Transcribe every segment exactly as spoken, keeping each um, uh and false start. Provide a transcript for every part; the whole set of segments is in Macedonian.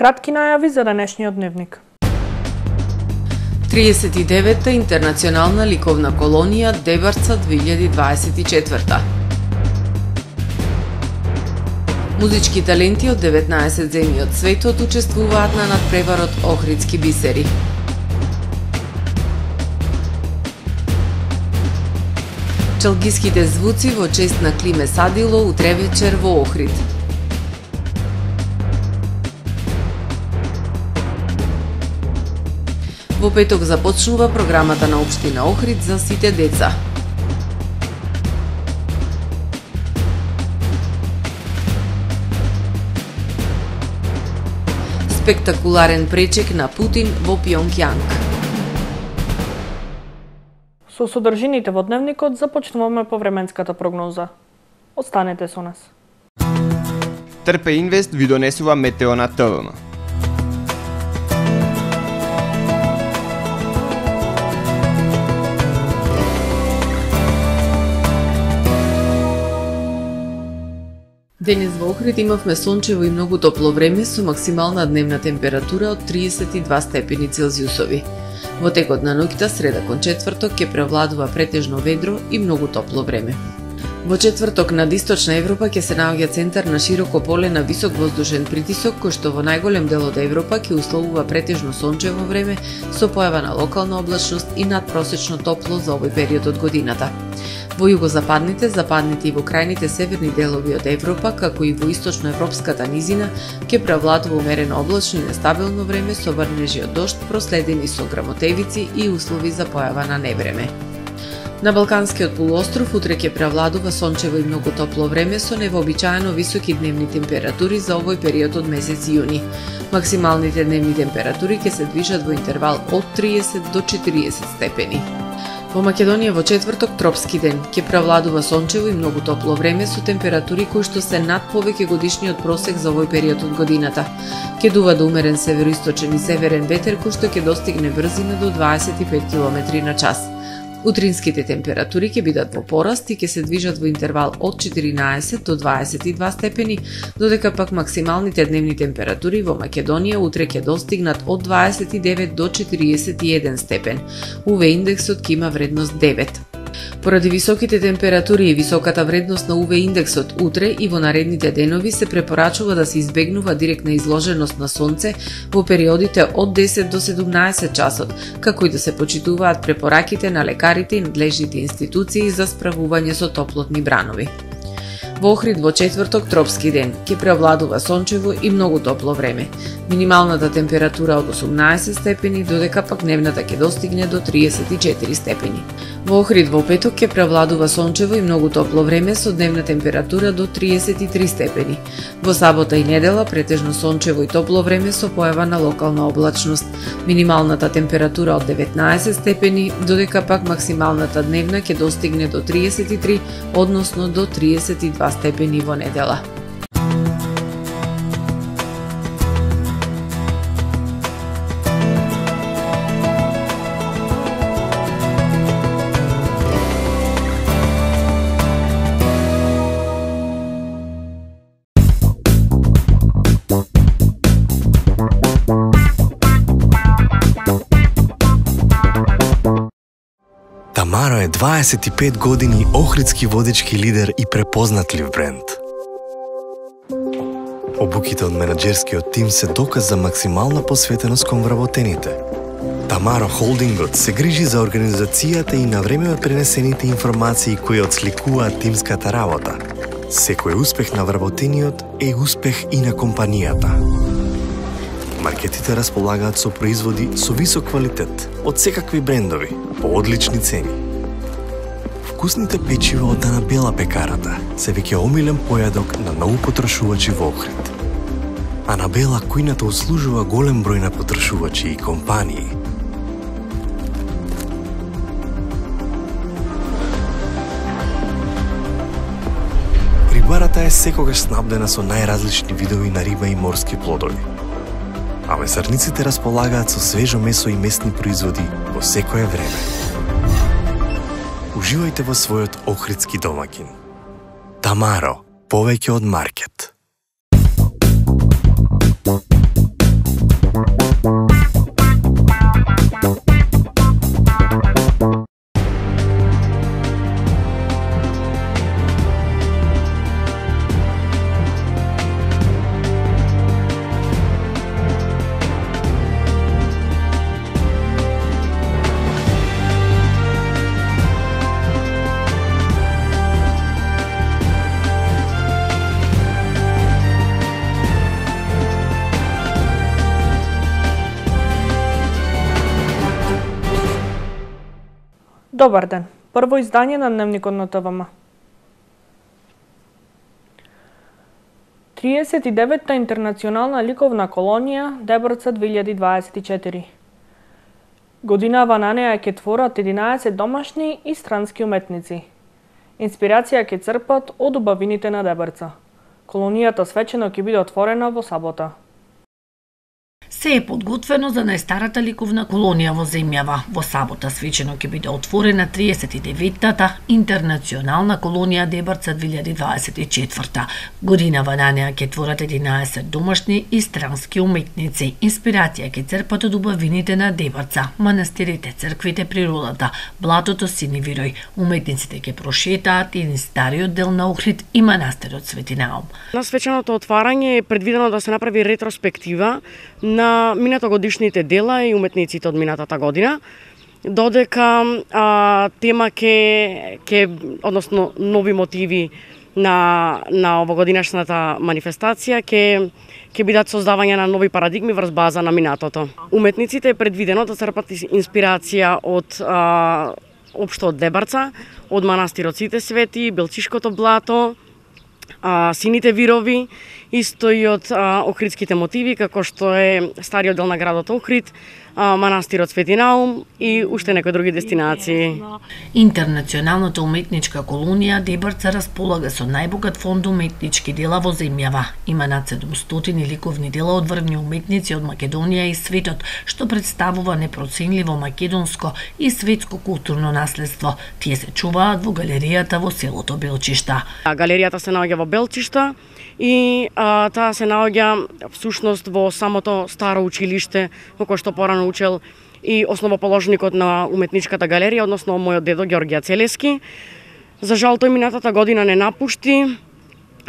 Кратки најави за денешниот дневник. триесет и девета интернационална ликовна колонија Дебарца две илјади дваесет и четврта. Музички таленти од деветнаесет земји од светот учествуваат на надпреварот Охридски бисери. Чалгиските звуци во чест на Климе Садило утре вечер во Охрид. Во петок започнува програмата на општина Охрид за сите деца. Спектакуларен пречек на Путин во Пјонгјанг. Со содржините во дневникот започнуваме по временската прогноза. Останете со нас. Трпе Инвест ви донесува метео на ТВМ. Денес во Охрид имавме сончево и многу топло време со максимална дневна температура од триесет и два степени Целзиусови. Во текот на ноќта среда кон четврток ќе превладува претежно ведро и многу топло време. Во четврток над Источна Европа ќе се наоѓа центар на широко поле на висок воздушен притисок, кој што во најголем дел од Европа ќе условува претежно сончево време со појава на локална облачност и надпросечно топло за овој период од годината. Во југозападните, западните и во крајните северни делови од Европа, како и во источноевропската низина, ќе превладува умерено облачно и нестабилно време со врнежи од дожд, проследени со грамотевици и услови за појава на невреме. На Балканскиот полуостров утре ќе превладува сончево и многу топло време со невообичаено високи дневни температури за овој период од месец јуни. Максималните дневни температури ќе се движат во интервал од триесет до четириесет степени. Во Македонија во четврток тропски ден ќе превладува сончево и многу топло време со температури кои што се над повеќе годишниот просек за овој период од годината. Ќе дува до умерен североисточен и северен ветер кој што ќе достигне брзина до дваесет и пет километри на час. Утринските температури ќе бидат во пораст и ќе се движат во интервал од четиринаесет до дваесет и два степени, додека пак максималните дневни температури во Македонија утре ќе достигнат од дваесет и девет до четириесет и еден степен. У В индексот ќе има вредност девет. Поради високите температури и високата вредност на У В индексот утре и во наредните денови се препорачува да се избегнува директна изложеност на сонце во периодите од десет до седумнаесет часот, како и да се почитуваат препораките на лекарите и надлежните институции за справување со топлотни бранови. Во Охрид во четврток тропски ден ќе превладува сончево и многу топло време. Минималната температура од осумнаесет степени, додека пак дневната ќе достигне до триесет и четири степени. Во Охрид во петок ќе превладува сончево и многу топло време со дневна температура до триесет и три степени. Во сабота и недела претежно сончево и топло време со појава на локална облачност. Минималната температура од деветнаесет степени, додека пак максималната дневна ќе достигне до триесет и три, односно до триесет и два степени во недела. Тамаро е дваесет и пет години охридски водечки лидер и препознатлив бренд. Обуките од менаџерскиот тим се доказ за максимална посветеност кон вработените. Тамаро Холдингот се грижи за организацијата и на време од пренесените информации кои отсликуваат тимската работа. Секој успех на вработениот е успех и на компанијата. Маркетите располагаат со производи со висок квалитет од секакви брендови по одлични цени. Вкусните печива од Анабела пекарата се веќе омилен појадок на многу потрошувачи во Охрид. Анабела кујната услужува голем број на потрошувачи и компании. Рибарата е секогаш снабдена со најразлични видови на риба и морски плодови. А месарниците располагаат со свежо месо и месни производи во секое време. Уживајте во својот охридски домаќин. Тамаро, повеќе од маркет. Добар ден. Прво издание на Дневникот на ТВМ. триесет и деветта интернационална ликовна колонија Дебрца две илјади дваесет и четири. Годинава на неа ќе творат единаесет домашни и странски уметници. Инспирација ќе црпат од убавините на Дебрца. Колонијата свечено ќе биде отворена во сабота. Се е подготвено за најстарата ликовна колонија во земјава. Во сабота свечено ќе биде отворена триесет и деветтата интернационална колонија Дебрца две илјади дваесет и четврта. Годинава на неа ќе творат единаесет домашни и странски уметници. Инспирација ќе црпат од убавините на Дебрца, манастирите, црквите, природата, блатото Синивирој. Уметниците ќе прошетаат и стариот дел на Охрид и манастирот Свети Наум. На свеченото отварање е предвидено да се направи ретроспектива на минатогодишните дела и уметниците од минатата година, додека а, тема ке, ке, односно нови мотиви на, на овогодинашната манифестација ке, ке бидат создавање на нови парадигми врз база на минатото. Уметниците е предвидено да црпат инспирација од а, општо од Дебрца, од манастирот Сите Свети, Белчишкото блато, а, Сините вирови, исто и од а, охридските мотиви, како што е стариот дел на градот Охрид, а, манастирот Свети Наум и уште некои други дестинации. Интернационалната уметничка колонија Дебрца располага со најбогат фонд уметнички дела во земјава. Има над седумстотини ликовни дела од врвни уметници од Македонија и светот, што представува непроценливо македонско и светско културно наследство. Тие се чуваат во галеријата во селото Белчишта. Галеријата се наоѓа во Белчишта и а, таа се наоѓа всушност во самото старо училиште, во кое што порано учел и основоположникот на уметничката галерија, односно мојот дедо Ѓорѓе Целески. За жал тој минатата година не напушти.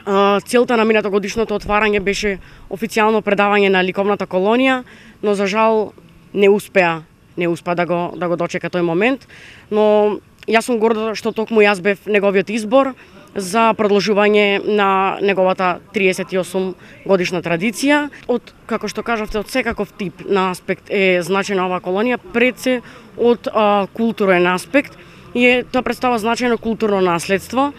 А, целта на минатогодишното отварање беше официјално предавање на ликовната колонија, но за жал не успеа, не успеа да го да го дочека тој момент, но јас сум горда што токму јас бев неговиот избор за продолжување на неговата триесет и осум годишна традиција. Од, како што кажавте, од секаков тип на аспект е значена оваа колонија, пред се од а, културен аспект, и е, тоа представа значајно културно наследство,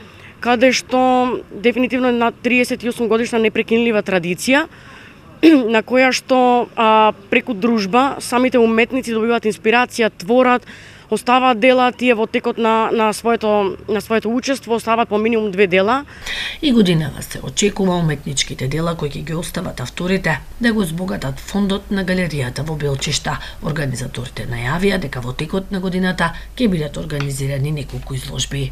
каде што дефинитивно на триесет и осум годишна непрекинлива традиција, на која што а, преку дружба самите уметници добиваат инспирација, творат, оставаат дела, тие во текот на, на, своето, на своето учество оставаат по минимум две дела. И годинава се очекува уметничките дела кои ќе ги остават авторите да го збогатат фондот на галеријата во Белчишта. Организаторите најавија дека во текот на годината ќе бидат организирани неколку изложби.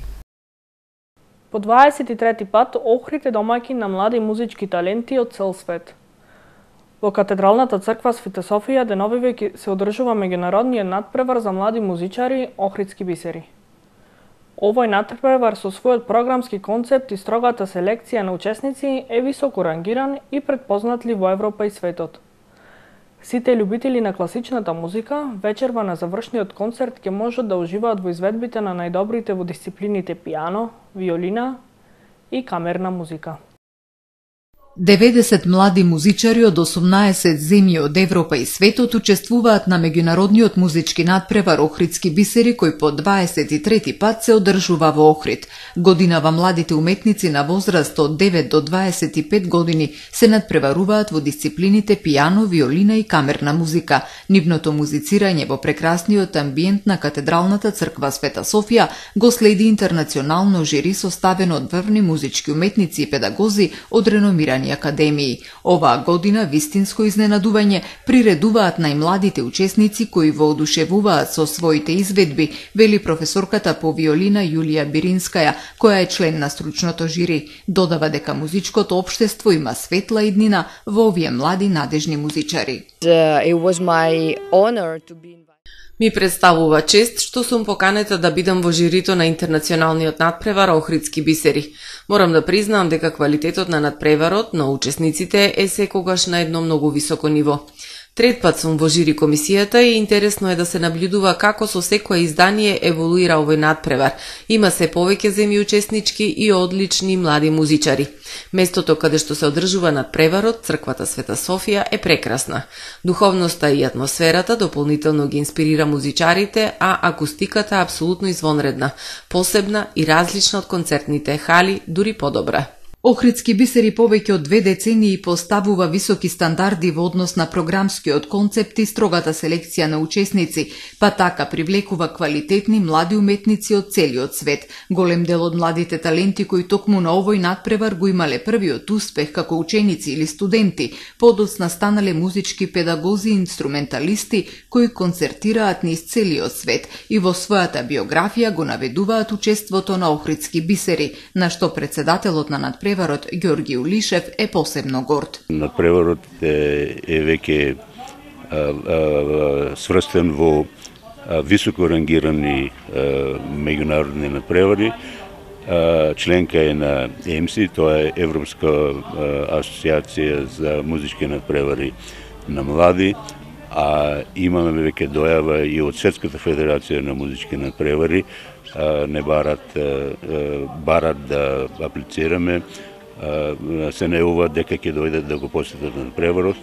По дваесет и трети пат Охрид е домаќин на млади музички таленти од цел свет. Во Катедралната црква Света Софија деновиве се одржува меѓународниот натпревар за млади музичари Охридски бисери. Овој натпревар со својот програмски концепт и строгата селекција на учесници е високо рангиран и предпознатлив во Европа и светот. Сите љубители на класичната музика вечерва на завршниот концерт ќе можат да уживаат во изведбите на најдобрите во дисциплините пијано, виолина и камерна музика. деветдесет млади музичари од осумнаесет земји од Европа и светот учествуваат на меѓународниот музички натпревар Охридски бисери, кој по дваесет и трети пат се одржува во Охрид. Годинава младите уметници на возраст од девет до дваесет и пет години се натпреваруваат во дисциплините пијано, виолина и камерна музика. Нивното музицирање во прекрасниот амбиент на Катедралната црква Света Софија го следи интернационално жири составено од врвни музички уметници и педагози од реномирани академии. Оваа година вистинско изненадување приредуваат најмладите учесници кои воодушевуваат со своите изведби, вели професорката по виолина Јулија Биринскаја, која е член на стручното жири. Додава дека музичкото општество има светла иднина во овие млади надежни музичари. Ми представува чест што сум поканета да бидам во жирито на интернационалниот натпревар Охридски бисери. Морам да признаам дека квалитетот на натпреварот на учесниците е секогаш на едно многу високо ниво. Трет пат сум во жири комисијата и интересно е да се наблюдува како со секое издание еволуира овој надпревар. Има се повеќе земји учеснички и одлични млади музичари. Местото каде што се одржува надпреварот, црквата Света Софија, е прекрасна. Духовноста и атмосферата дополнително ги инспирира музичарите, а акустиката е апсолутно извонредна, посебна и различна од концертните хали, дури подобра. Охридски бисери повеќе од две децении поставува високи стандарди во однос на програмскиот концепт и строгата селекција на учесници, па така привлекува квалитетни млади уметници од целиот свет. Голем дел од младите таленти кои токму на овој надпревар го имале првиот успех како ученици или студенти, подоцна станале музички педагози и инструменталисти кои концертираат низ целиот свет и во својата биографија го наведуваат учеството на охридски бисери, на што председателот на надпреварот Надпреварот Ѓорги Улишев е посебно горд. Надпреварот е, е веќе сврстен во а, високо рангирани а, меѓународни надпревари. А, членка е на Е Ем Си, тоа е Европска а, асоциација за музички надпревари на млади, а имаме веќе дојава и од Светската федерација на музички надпревари. Не барат, барат да аплицираме, се најавуваат дека ќе дојдат да го посетат надпреварот.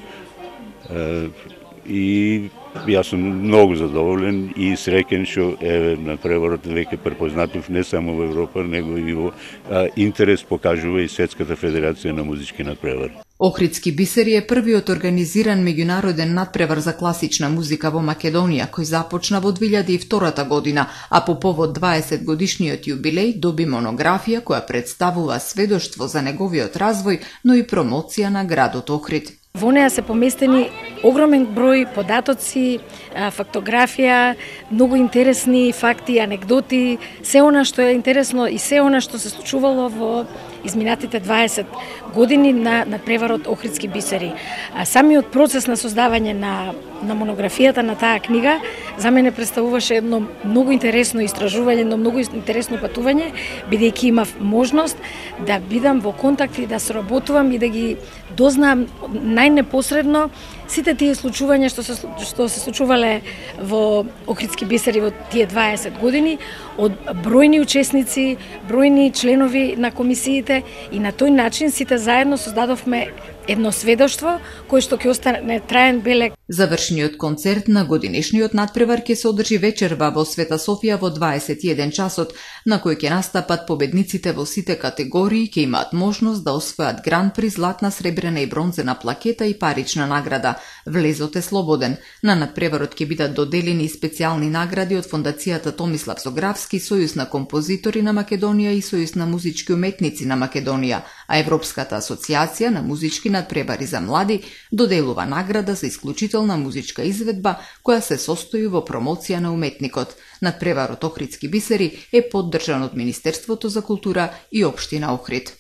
И јас сум многу задоволен и среќен што е надпреварот веќе препознатив не само во Европа, него и во интерес покажува и Светската федерација на музички надпревари. Охридски бисери е првиот организиран меѓународен надпревар за класична музика во Македонија, кој започна во две илјади и втора година, а по повод дваесет годишниот јубилеј доби монографија која представува сведоштво за неговиот развој, но и промоција на градот Охрид. Во неа се поместени огромен број податоци, фактографија, многу интересни факти, анегдоти, се она што е интересно и се она што се случувало во изминатите дваесет години на надпреварот Охридски бисери. А самиот процес на создавање на на монографијата на таа книга за мене представуваше едно многу интересно истражување, едно многу интересно патување, бидејќи имав можност да бидам во контакт и да соработувам и да ги дознаам најнепосредно сите тие случувања што се што се случувале во Охридски бисери во тие дваесет години од бројни учесници, бројни членови на комисиите и на тој начин сите заедно создадовме едно сведоштво кој што ќе остане траен белег. Завршниот концерт на годинешниот надпревар ќе се одржи вечерва во Света Софија во дваесет и еден часот, на кој ќе настапат победниците во сите категории, ќе имаат можност да освојат гран при златна, сребрена и бронзена плакета и парична награда. Влезот е слободен. На надпреварот ќе бидат доделени и специјални награди од Фондацијата Томислав Зографски, Сојуз на композитори на Македонија и Сојуз на музички уметници на Македонија, а Европската асоциација на музички надпревари за млади доделува награда за исклучителна музичка изведба која се состои во промоција на уметникот. Надпреварот Охридски бисери е поддржан од Министерството за култура и Општина Охрид.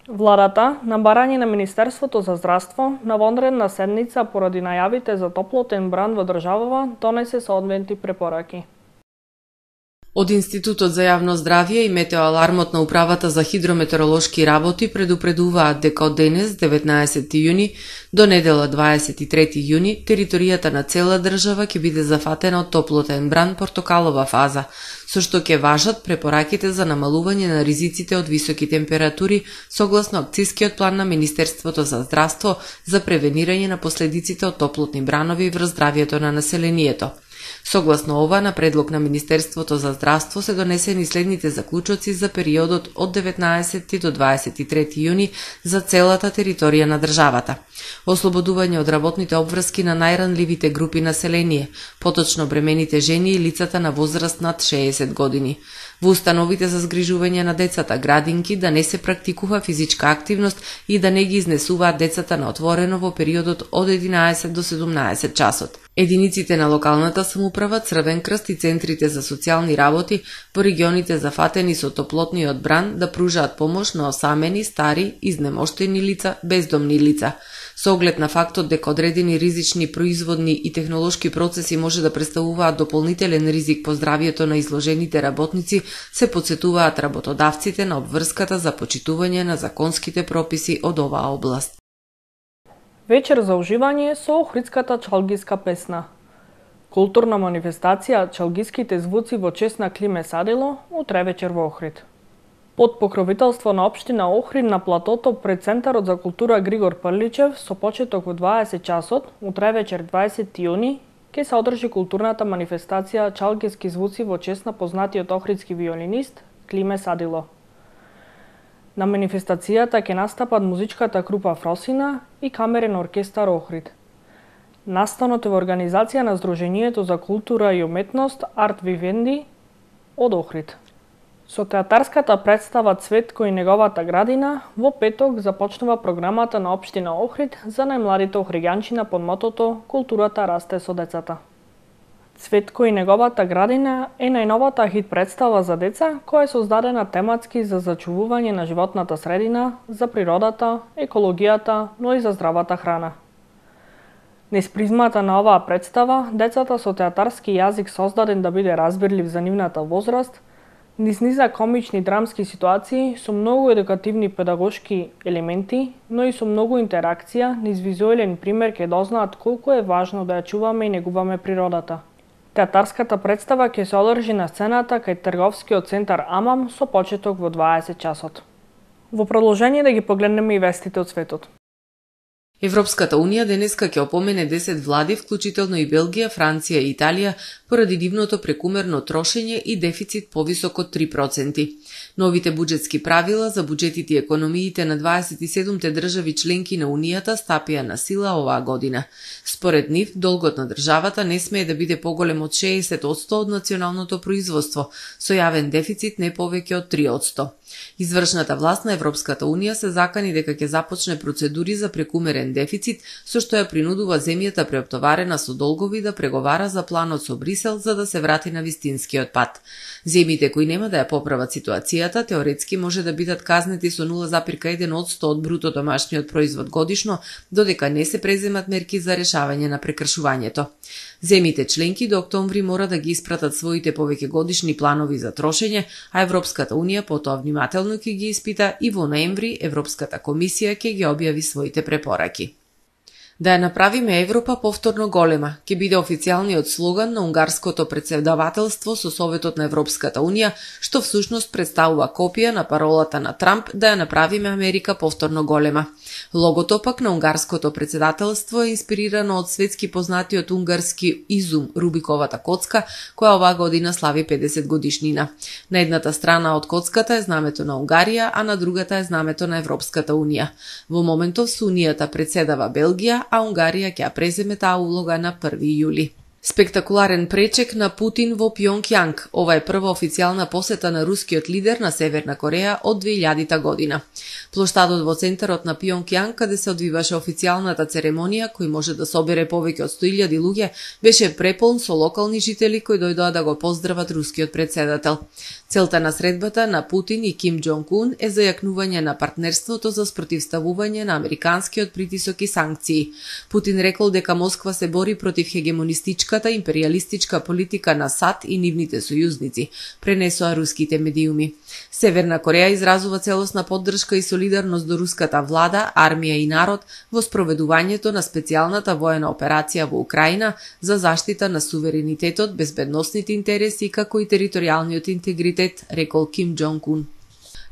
Владата, на барање на Министерството за здравство, на вонредна седница поради најавите за топлотен бран во државава, донесе соодветни препораки. Од Институтот за јавно здравје и метеоалармот на Управата за хидрометеоролошки работи предупредуваат дека од денес, деветнаесети јуни, до недела дваесет и трети јуни, територијата на цела држава ќе биде зафатена од топлотен бран портокалова фаза, со што ќе важат препораките за намалување на ризиците од високи температури согласно акцискиот план на Министерството за здравство за превенирање на последиците од топлотни бранови врз здравјето на населението. Согласно ова, на предлог на Министерството за здравство се донесени следните заклучоци за периодот од деветнаесети до дваесет и трети јуни за целата територија на државата. Ослободување од работните обврски на најранливите групи население, поточно бремените жени и лицата на возраст над шеесет години. Во установите за згрижување на децата градинки да не се практикува физичка активност и да не ги изнесуваат децата на отворено во периодот од единаесет до седумнаесет часот. Единиците на локалната самоуправа, Црвен крст и центрите за социјални работи во регионите зафатени со топлотниот бран да пружаат помош на осамени, стари, изнемоштени лица, бездомни лица. Со оглед на фактот дека одредени ризични производни и технолошки процеси може да представуваат дополнителен ризик по здравјето на изложените работници, се потсетуваат работодавците на обврската за почитување на законските прописи од оваа област. Вечер за уживање со охридската чалгиска песна. Културна манифестација Чалгиските звуци во чест на Климе Садило утре вечер во Охрид. Под покровителство на општина Охрид на платото пред Центарот за култура Григор Прличев со почеток во дваесет часот, утре вечер дваесети јуни, ќе се одржи културната манифестација Чалгиски звуци во чест на познатиот охридски виолинист Климе Садило. На манифестацијата ќе настапат музичката група Фросина и камерен оркестар Охрид. Настанот е во организација на Сдруженијето за култура и уметност Арт Вивенди од Охрид. Со театарската представа Цветко и неговата градина, во петок започнува програмата на општина Охрид за најмладите охриѓанчина под мотото "Културата расте со децата". Цветко и неговата градина е најновата хит представа за деца која е создадена тематски за зачувување на животната средина, за природата, екологијата, но и за здравата храна. Низ призмата на оваа представа, децата со театарски јазик создаден да биде разбирлив за нивната возраст, низ низа комични драмски ситуации со многу едукативни педагошки елементи, но и со многу интеракција, низ визуелен пример ќе дознаат колку е важно да ја чуваме и негуваме природата. Театарската представа ќе се одржи на сцената кај трговскиот центар Амам со почеток во дваесет часот. Во продолжение да ги погледнеме и вестите од светот. Европската унија денеска ќе опомене десет влади, вклучително и Белгија, Франција и Италија, поради нивното прекумерно трошење и дефицит повисок од три проценти. Новите буџетски правила за буџетите и економиите на дваесет и седумте држави членки на Унијата стапија на сила оваа година. Според нив, долгот на државата не смее да биде поголем од шеесет одсто од националното производство, со јавен дефицит не повеќе од три одсто. Извршната власт на Европската Унија се закани дека ќе започне процедури за прекумерен дефицит, со што ја принудува земјата преоптоварена со долгови да преговара за планот со Брисел за да се врати на вистинскиот пат. Земјите кои нема да ја поправат ситуацијата, теоретски може да бидат казнети со нула зарез еден одсто од бруто домашниот производ годишно, додека не се преземат мерки за решавање на прекршувањето. Земјите членки до октомври мора да ги испратат своите повеќе годишни планови за трошење, а Европската Унија потоа внимателно ќе ги испита и во ноември Европската комисија ќе ги објави своите препораки. Да ја направиме Европа повторно голема, ќе биде официјалниот слоган на унгарското претседавателство со Советот на Европската Унија, што всушност представува копија на паролата на Трамп да ја направиме Америка повторно голема. Логото пак на унгарското претседателство е инспирирано од светски познатиот унгарски изум Рубиковата коцка, која оваа година слави педесет годишнина. На едната страна од коцката е знамето на Унгарија, а на другата е знамето на Европската Унија. Во моментов со Унијата претседава Белгија, а Унгарија ќе ја преземе таа улога на први јули. Спектакуларен пречек на Путин во Пјонкјанг. Ова е прва официјална посета на рускиот лидер на Северна Кореја од две илјадита година. Плоштадот во центарот на Пјонкјанг, каде се одвиваше официјалната церемонија, кој може да собере повеќе од сто илјади луѓе, беше преполн со локални жители кои дојдоа да го поздрават рускиот претседател. Целта на средбата на Путин и Ким Џонг Ун е зајакнување на партнерството за спротивставување на американскиот притисок и санкции. Путин рекол дека Москва се бори против хегемонистичката империалистичка политика на САД и нивните сојузници, пренесоа руските медиуми. Северна Кореја изразува целосна поддршка и солидарност до руската влада, армија и народ во спроведувањето на специјалната воена операција во Украина за заштита на суверенитетот, безбедносните интереси како и територијалниот интегритет, рекол Ким Џонг Ун.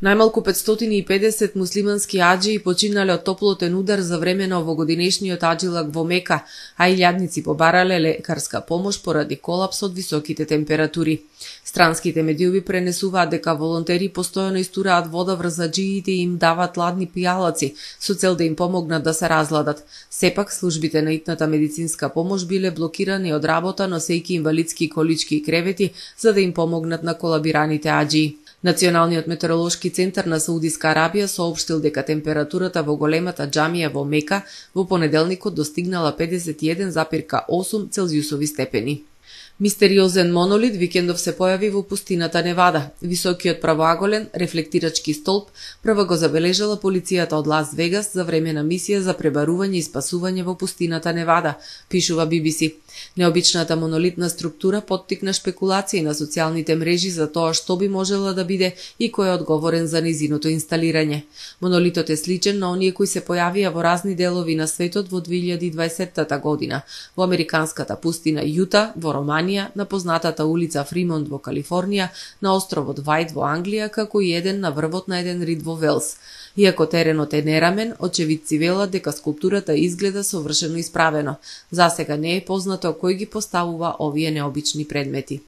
Најмалку петстотини и педесет муслимански аџии починале од топлотен удар за време на овогодинешниот аџилак во Мека, а илјадници побарале лекарска помош поради колапс од високите температури. Странските медиуми пренесуваат дека волонтери постојано истураат вода врз аџиите и им дават ладни пијалаци со цел да им помогнат да се разладат. Сепак, службите на итната медицинска помош биле блокирани од работа, носејќи инвалидски колички и кревети за да им помогнат на колабираните аџии. Националниот метеоролошки центар на Саудиска Арабија соопштил дека температурата во големата џамија во Мека во понеделникот достигнала педесет и еден зарез осум целзиусови степени. Мистериозен монолит викендов се појави во пустината Невада. Високиот правоаголен рефлектирачки столб прва го забележала полицијата од Лас Вегас за време на мисија за пребарување и спасување во пустината Невада, пишува Би Би Си. Необичната монолитна структура поттикна шпекулации на социјалните мрежи за тоа што би можела да биде и кој е одговорен за низиното инсталирање. Монолитот е сличен на оние кои се појавија во разни делови на светот во две илјади и дваесеттата година, во американската пустина Јута, во Романија, на познатата улица Фримонт во Калифорнија, на островот Вајт во Англија, како и еден на врвот на еден рид во Велс. Иако теренот е нерамен, очевидци велат дека скулптурата изгледа совршено исправено. Засега не е познато кој ги поставува овие необични предмети.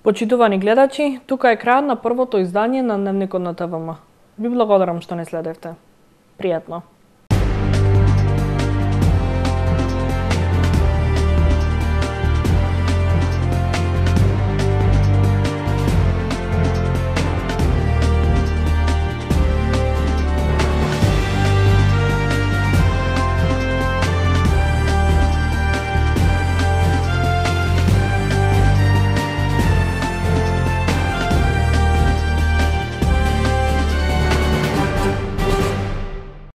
Почитувани гледачи, тука е крајот на првото издание на Дневникот на ТВМ. Ви благодарам што не следевте. Пријатно.